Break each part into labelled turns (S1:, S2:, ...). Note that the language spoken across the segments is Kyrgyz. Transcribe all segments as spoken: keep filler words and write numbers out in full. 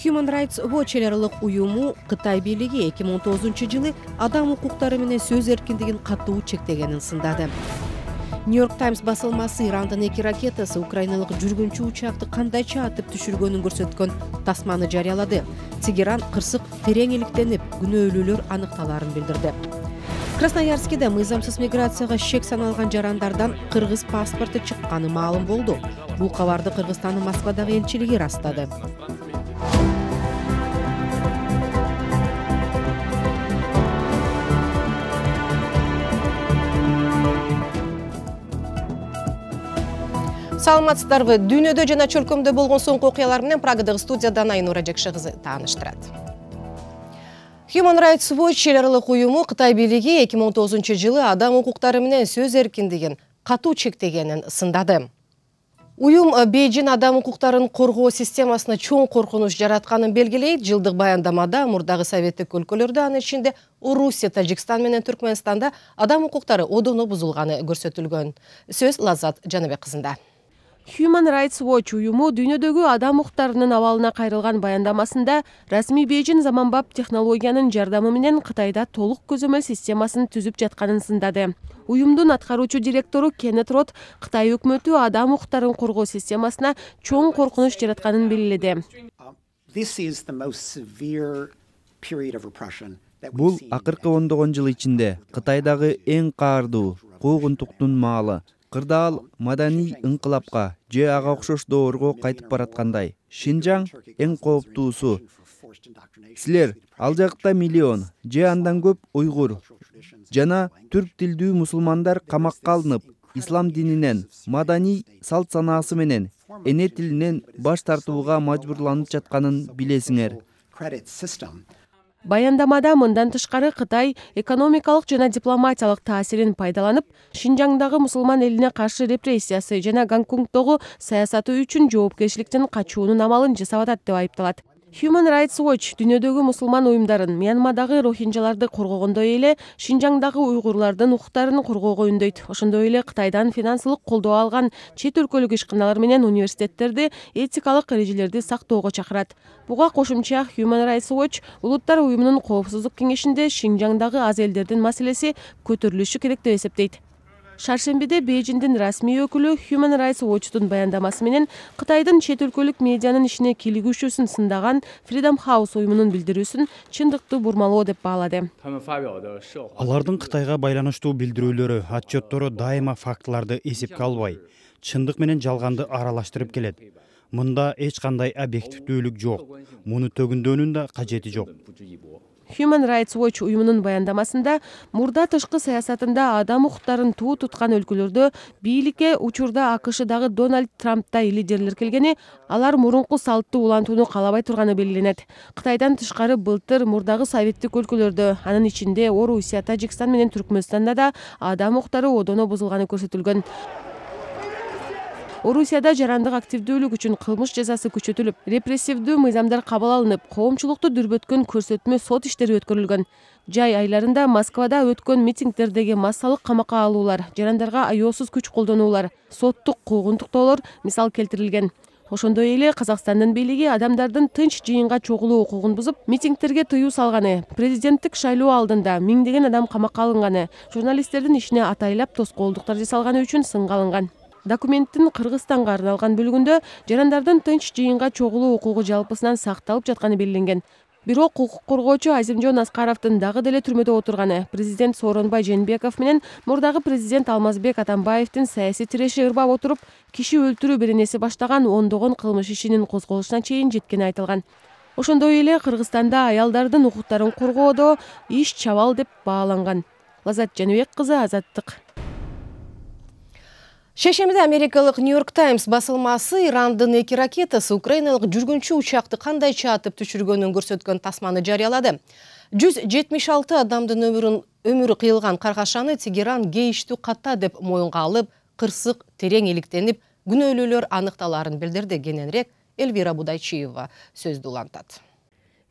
S1: Human Rights Watch эл аралык уюму Кытай бийлиги эки миң он тогузунчу жылы адам укуктары менен сөз эркиндигин катуу чектегенин сындады. Нью-Йорк Таймс басылмасы Ирандын эки ракетасы украиналык жүргүнчү учакты кандайча атып түшүргөнүн көрсөткөн тасманы жарыялады. Тегеран кырсык терең иликтенип, күнөөлүүлөр аныкталарын билдирди. Красноярскиде мыйзамсыз миграцияга шек саналган жарандардан кыргыз паспорту чыкканы маалым болду. Бул кабарды Кыргызстандын Москвадагы элчилиги ырастады. Саламатсыздарбы? Дүйнөдө жана чөлкөмдө болгон соңку окуялар менен Прагадагы студиядан Айнура Жекше кызы тааныштырат. Human Rights Watch эл аралык уюму Кытай бийлиги эки миң он тогузунчу жылы адам укуктары менен сөз эркиндигин катуу чектегенин сындады. Уюм Бейжин адам укуктарын коргоо системасына чоң коркунуч жаратканын белгилейт. Жылдык баяндамада мурдагы советтик өлкөлөрдө, анын ичинде Орусия, Тажикстан менен Түркмөнстанда адам укуктары одоно бузулганы көрсөтүлгөн. Сөз Лаззат Жаныбек кызында.
S2: Human Rights Watch уюму дүйнөдөгү адам укуктарынын абалына кайрылган баяндамасында расмий Бейжин заманбап технологиянын жардамы менен Кытайда толук көзөмөл системасын түзүп жатканын сындады. Уюмдун аткаруучу директору Кеннет Рот Кытай өкмөтү адам укуктарын коргоо системасына чоң коркунуч жаратканын белгиледи.
S3: Бул акыркы ондогон жыл ичинде Кытайдагы эң каардуу куугунтуктун маалы. Кырдаал маданий ыңкылапка же ага окшош доорго кайтып бараткандай. Шинжаң эң кооптуусу. Силер ал жакта миллион же андан көп уйгур жана түрк тилдүү мусулмандар камакка алынып, ислам дининен, маданий салт санаасы менен, эне тилинен баш тартууга мажбурланып жатканын билесиңер.
S2: Баяндамада мындан тышкары Кытай экономикалык жана дипломатиялык таасирин пайдаланып, Шинжаңдагы мусулман элине каршы репрессиясы жана Гонконгдогу саясаты үчүн жоопкерчиликтен качуунун амалын жасап атат деп айыпталат. Human Rights Watch дүйнөдөгү мусулман уюмдарын Мьянмадагы рохинжаларды коргогондой эле Шинжаңдагы уйгурлардын укуктарын коргоого үндөйт. Ошондой эле Кытайдан финансылык колдоо алган чет өлкөлүк ишканалар менен университеттерди этикалык эрежелерди сактоого чакырат. Буга кошумча Human Rights Watch улуттар уюмунун коопсуздук кеңешинде Шинжаңдагы аз элдердин маселеси көтөрүлүшү керек деп эсептейт. Шаршембиде Бейжиндин расмий өкүлү Human Rights Watch'тун баяндамасы менен Кытайдын чет өлкөлүк медианын ишине кийлигүүчүсүн сындаган Freedom House уюмунун билдирүүсүн чындыкты бурмалоо деп баалады.
S4: Алардын Кытайга байланыштуу билдирүүлөрү, отчеттору дайыма фактыларды эсепке албай, чындык менен жалганды аралаштырып келет. Мында эч кандай объективдүүлүк жок. Муну төгүндөөнүн да кажети жок.
S2: Human Rights Watch уюмунун баяндамасында мурда тышкы саясатында адам укуктарын туу туткан өлкөлөрдө бийликке учурда АКШдагы Дональд Трамптай лидерлер келгени, алар мурунку салтты улантууну каалабай турганы белгиленет. Кытайдан тышкары былтыр мурдагы советтик өлкөлөрдө, анын ичинде Орусия, Тажикстан менен Түркмөнстанда да адам укуктары одоно бузулганы көрсөтүлгөн. Орусияда жарандык активдүүлүк үчүн кылмыш жазасы күчөтүлүп, репрессивдүү мыйзамдар кабыл алынып, коомчулукту дүрбөткөн көрсөтмө сот иштери өткөрүлгөн. Жай айларында Москвада өткөн митингдердеги массалык камакка алуулар, жарандарга аеосуз күч колдонуулар, соттук куугунтуктоолор мисал келтирилген. Ошондой эле Казакстандын бийлиги адамдардын тынч жыйынга чогулуу укугун бузуп, митингтерге тыюу салганы, президенттик шайлоо алдында миңдеген адам камакка алынганы, журналисттердин ишине атайлап тоскоолдуктар жасалганы үчүн сынга алынган. Документтин Кыргызстанга арналган бөлүгүндө жарандардын тынч жыйынга чогулуу укугу жалпысынан сакталып жатканы белгиленген. Бирок укук коргоочу Азимжон Аскаровдун дагы деле түрмөдө отурганы, президент Сооронбай Жээнбеков менен мурдагы президент Алмазбек Атамбаевдин саясий тиреши ырбап отуруп, киши өлтүрүү беренеси баштаган ондогон кылмыш ишинин козголушуна чейин жеткени айтылган. Ошондой эле Кыргызстанда аялдардын укуктарын коргоодо иш чабал деп бааланган. Лаззат Жаныбек кызы, Азаттык.
S1: Шешемде Америкалык Нью-Йорк Таймс басылмасы Ирандын эки ракетасы украиналык жүргүнчү учакты кандайча атып түшүргөнүн көрсөткөн тасманы жарыялады. жүз жетимиш алты адамдын өмүрүн өмүрү кыйылган каргашаны Тегеран кейиштүү ката деп моюнга алып, кырсык терең иликтенип, күнөөлүүлөр аныкталарын билдирди. Кененирээк Эльвира Будайчиева сөздү улантат.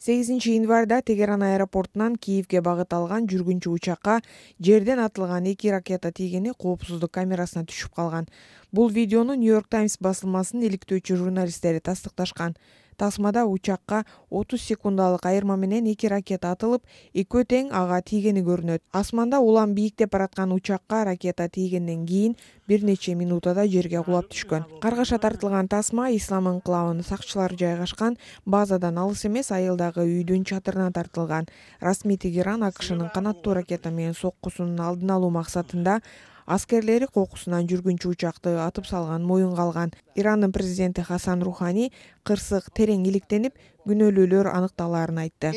S5: сегизинчи январда Тегеран аэропортунан Киевге багыт алган жүргүнчү учакка жерден атылган эки ракета тийгени коопсуздук камерасына түшүп калган. Бул видеону Нью-Йорк Таймс басылмасынын иликтөөчү журналисттери тастыкташкан. Тасмада учакка отуз секундалык айырма менен эки ракета атылып, экөө тең ага тийгени көрүнөт. Асманда улам бийиктеп бараткан учакка ракета тийгенден кийин бир нече минутада жерге кулап түшкөн. Каргаша тартылган тасма Ислам инкылабынын сакчылары жайгашкан базадан алыс эмес айылдагы үйдүн чатырына тартылган. Расмий Тегеран АКШнын канаттуу ракета менен соккусунун алдын алуу максатында аскерлери кокусунан жүргүнчү учакты атып салган моюнга алган. Ирандын президенти Хасан Рухани кырсык терең иликтенип, күнөөлүүлөр аныкталаарын айтты.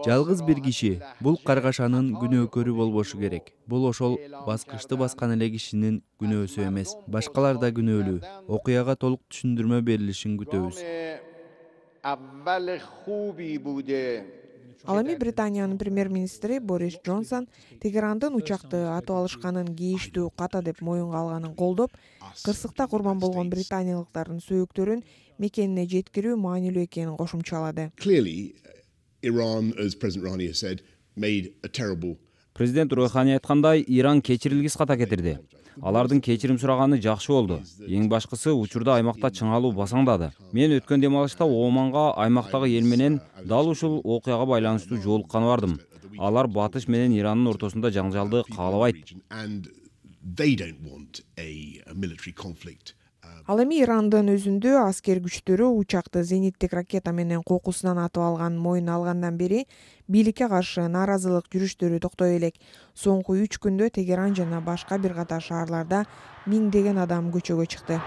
S3: Жалгыз бир киши бул каргашанын күнөөкөрү болбошу керек. Бул ошол баскычты баскан эле кишинин күнөөсү эмес. Башкалар да күнөөлүү. Окуяга толук түшүндүрмө берилишин күтөбүз.
S5: Ал эми Британиянын премьер-министри Борис Джонсон Тегерандын учакты атып алышканын кейиштүү ката деп моюнга алганын колдоп, кырсыкта курман болгон британиялыктардын сөөктөрүн мекенине жеткирүү маанилүү экенин кошумчалады.
S6: Президент Рухани айткандай, Иран кечирилгис ката кетирди. Алардын кечирим сураганы жакшы болду. Эң башкысы учурда аймакта чыңалуу басаңдады. Мен өткөн дем алышта Оманга аймактагы эл менен дал ушул окуяга байланыштуу жолукканы бардым. Алар батыш менен Ирандын ортосунда жаңжалды каалабайт.
S5: Ал эми Ирандын өзүндө аскер күчтөрү учакты зениттик ракета менен кокусунан атып алган моюн алгандан бери бийликке каршы нааразылык жүрүштөрү токтой элек. Соңку үч күндө Тегеран жана башка бир катар шаарларда миңдеген адам көчөгө чыкты.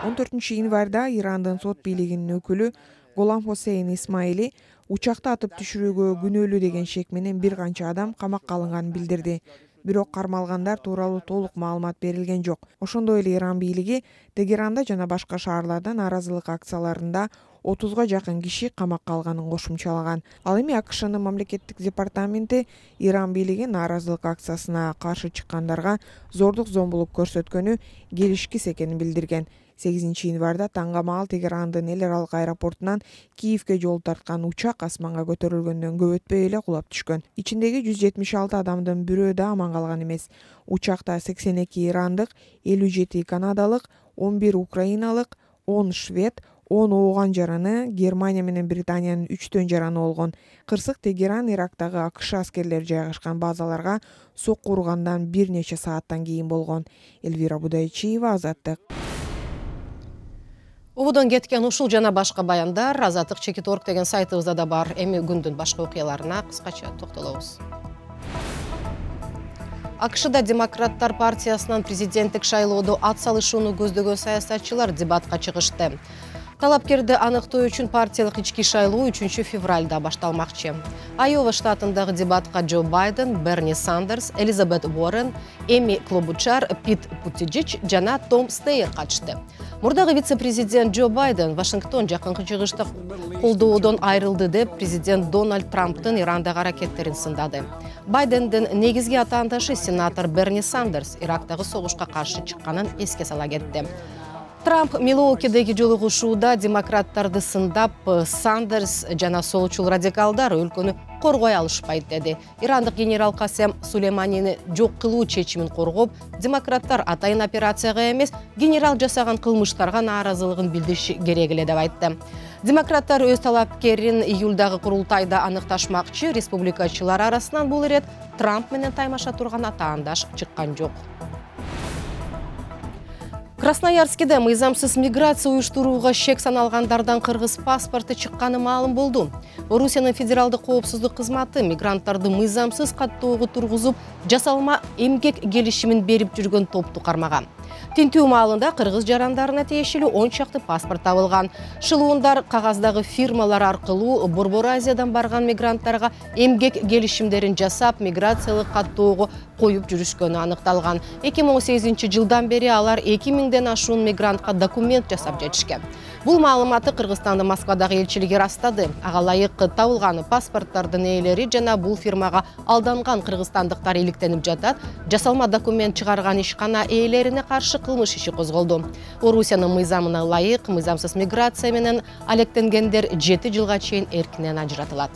S5: он төртүнчү январда Ирандын сот бийлигинин өкүлү Голам Хосейн Исмаили учакты атып түшүрүүгө күнөөлүү деген шек менен бир канча адам камакка алынганын билдирди. Бирок кармалгандар тууралуу толук маалымат берилген жок. Ошондой эле Иран бийлиги Тегеранда жана башка шаарларда нааразылык акцияларында отузга жакын киши камакка алганын кошумчалаган. Ал эми АКШнын мамлекеттик департаменти Иран бийлиги нааразылык акциясына каршы чыккандарга зордук зомбулук көрсөткөнү келишкис экенин билдирген. сегизинчи январда таңгамаал Тегерандын эл аралык аэропортунан Киевге жол тарткан учак асманга көтөрүлгөндөн көп өтпөй эле кулап түшкөн. Ичиндеги жүз жетимиш алты адамдын бирөө да аман калган эмес. Учакта сексен эки ирандык, элүү жети канадалык, он бир украиналык, он швед, он ооган жараны, Германия менен Британиянын үчтөн жараны болгон. Кырсык Тегеран Ирактагы АКШ аскерлери жайгашкан базаларга сокку ургандан бир нече сааттан кийин болгон. Элвира Будайчиева, Азаттык.
S1: Ободон кеткен ушул жана башка баяндар Азаттык чекит точка орг деген сайтыбызда да бар. Эми күндүн башка окуяларына кыскача токтолобуз. АКШда Демократтар партиясынын президенттик шайлоодо ат салышууну көздөгөн саясатчылар дебатка чыгышты. Талапкерди аныктоо үчүн партиялык ички шайлоо үчүнчү февралда башталмакчы. Айова штатындагы дебатка Джо Байден, Берни Сандерс, Элизабет Уоррен, Эми Клобучар, Пит Бутиджич жана Том Стейер катышты. Мурдагы вице-президент Джо Байден Вашингтон жакынкы чыгышта колдоодон айрылды деп президент Дональд Трамптын Ирандагы аракеттерин сындады. Байдендин негизги атаандашы сенатор Берни Сандерс Ирактагы согушка каршы чыкканын эске сала кетти. Трамп Милуокидеги жолугушууда демократтарды сындап, Сандерс жана солчул радикалдар өлкөнү коргой алышпайт деди. Ирандык генерал Касем Сулейманини жок кылуу чечимин коргоп, демократтар атайын операцияга эмес, генерал жасаган кылмыштарга нааразылыгын билдириши керек эле деп айтты. Демократтар өз талапкерин июлдагы курултайда аныкташмакчы, республикачылар арасынан бул ирет Трамп менен таймаша турган атаандаш чыккан жок. Красноярскиде мыйзамсыз миграция уюштурууга шек саналгандардан кыргыз паспорты чыкканы маалым болду. Орусиянын федералдык коопсуздук кызматы мигранттарды мыйзамсыз каттоого тургузуп, жасалма эмгек келишимин берип жүргөн топту кармаган. Тинтүү маалында кыргыз жарандарына тиешелүү он чакты паспорт табылган. Шылуундар кагаздагы фирмалар аркылуу Борбор Азиядан барган мигранттарга эмгек келишимдерин жасап, миграциялык каттоого коюп жүрүшкөнү аныкталган. эки миң он сегизинчи жылдан бери алар эки миңден ашуун мигрантка документ жасап жетишкен. Бул маалыматты Кыргызстандын Москвадагы элчилиги растады. Ага ылайык табылган паспорттардын ээлери жана бул фирмага алданган кыргызстандыктар иликтенип жатат. Жасалма документ чыгарган ишкана ээлерине каршы кылмыш иши козголду. Орусиянын мыйзамына ылайык мыйзамсыз миграция менен алектенгендер жети жылга чейин эркинен ажыратылат.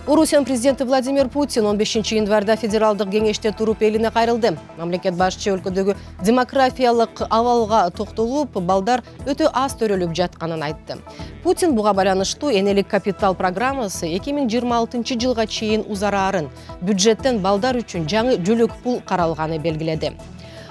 S1: Орусиянын президенти Владимир Путин он бешинчи январда федералдык кеңеште туруп элине кайрылды. Мамлекет башчы өлкөдөгү демографиялык абалга токтолуп, балдар өтө аз төрөлүп жатканын айтты. Путин буга байланыштуу энелик капитал программасы эки миң жыйырма алтынчы жылга чейин узараарын, бюджеттен балдар үчүн жаңы жөлөк пул каралганы белгиледи.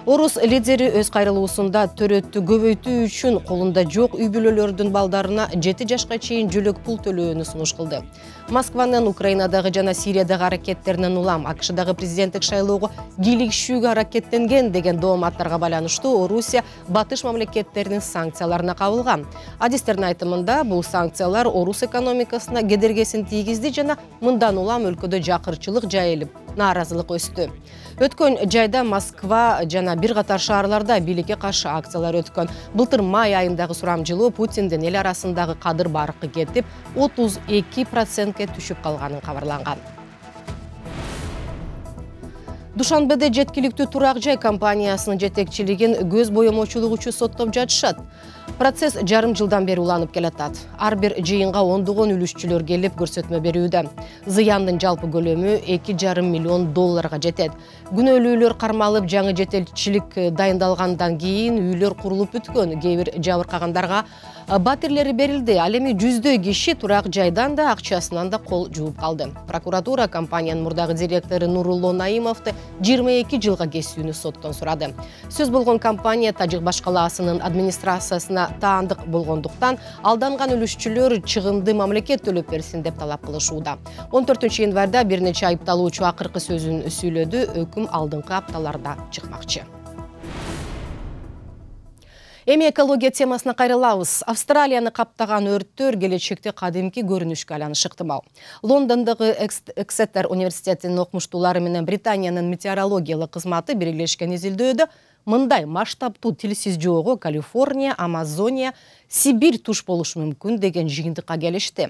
S1: Орус лидери өз кайрылуусунда төрөттү көбөйтүү үчүн колунда жок үй бүлөлөрдүн балдарына жети жашка чейин жөлөк пул төлөөнү сунуш кылды. Москванын Украинадагы жана Сириядагы аракеттеринен улам АКШдагы президенттик шайлоого кийлигишүүгө аракеттенген деген дооматтарга байланыштуу Орусия батыш мамлекеттеринин санкцияларына кабылган. Адистердин айтымында бул санкциялар Орус экономикасына кедергесин тийгизди жана мындан улам өлкөдө жакырчылык жайылып, нааразылык өстү. Өткөн жайда Москва жана бир катар шаарларда бийликке каршы акциялар өткөн. Былтыр май айындагы сурамжылоо Путиндин эл арасындагы кадыр баркы кетип, отуз эки процентке түшүп калганын кабарланган. Душанбеде жеткиликтүү турак жай компаниясынын жетекчилигин көз боемочулук үчүн соттоп жатышат. Процесс жарым жылдан бери уланып келатат. Ар бир жыйынга ондогон үлүшчүлөр келип көрсөтмө берүүдө. Зыяндын жалпы көлөмү эки жарым миллион долларга жетет. Күнөөлүүлөр кармалып, жаңы жетекчилик дайындалгандан кийин үйлөр курулуп бүткөн. Кээ бир жабыркагандарга батирлери берилди. Ал эми жүздөй киши турак жайдан да акчасынан да кол жууп калды. Прокуратура компаниянын мурдагы директору Нурулло Наимовду жыйырма эки жылга кесүүнү соттон сурады. Сөз болгон компания Тажик башкалаасынын администрациясына таандык болгондуктан алданган үлүшчүлөр чыгымды мамлекет төлөп берсин деп талап кылышууда. он төртүнчү январда бир нече айыпталуучу акыркы сөзүн сүйлөдү, өкүм алдыңкы апталарда чыкмакчы. Эми экология темасына кайрылабыз. Австралияны каптаган өрттөр келечекте кадимки көрүнүшкө айланышы ыктымал. Лондондогу Эксетер университетинин окумуштуулары менен Британиянын метеорологиялык кызматы бирилешкен изилдөөдө мындай масштабтуу тилсиз жоого Калифорния, Амазония, Сибирь туш болушу мүмкүн деген жыйынтыкка келишти.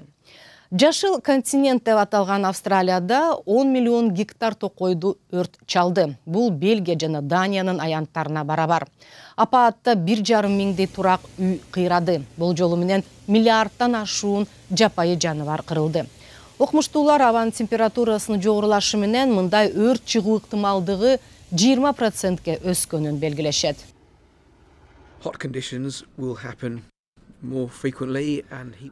S1: Жашыл континент деп аталган Австралияда он миллион гектар токойду өрт чалды. Бул Бельгия жана Даниянын аянттарына барабар. Апаатта бир жарым миңдей турак үй кыйрады. Бул жолу менен миллиардтан ашуун жапайы жаныбар кырылды. Окумуштуулар абанын температурасынын жогорулашы менен мындай өрт чыгуу ыктымалдыгы жыйырма процентке өскөнүн белгилешет.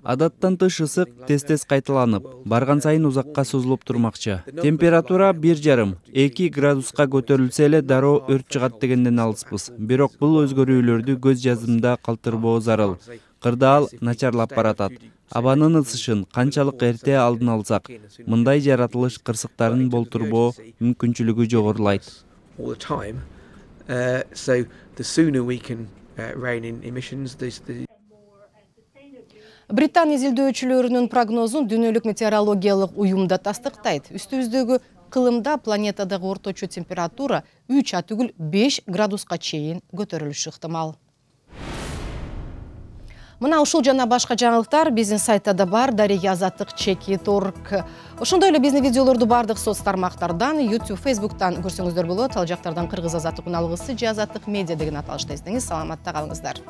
S3: Адаттан тыш ысык тез-тез кайталанып, барган сайын узакка созулуп турмакчы. Температура бир жарым эки градуска көтөрүлсө эле дароо өрт чыгат дегенден алыспыз. Бирок бул өзгөрүүлөрдү көз жазымда калтырбоо зарыл. Кырдаал начарлап баратат. Абанын ысышын канчалык эрте алдын алсак, мындай жаратылыш кырсыктарын болтурбоо мүмкүнчүлүгү жогорулайт.
S1: Британ изилдөөчүлөрүнүн прогнозун дүйнөлүк метеорологиялык уюм да тастыктайт. Үстүбүздөгү кылымда планетадагы орточо температура үч а түгүл беш градуска чейин көтөрүлүшү ыктымал. Мына ушул жана башка жаңылыктар биздин сайтта да бар, дареги азаттык чеки точка орг. Ошондой эле биздин видеолорду бардык соц тармактардан, YouTube, Facebook'тан көрсөңүздөр болот. Ал жактардан Кыргыз азаттык үн алгысы же азаттык медиа деген аталышта издеңиз. Саламатта калыңыздар.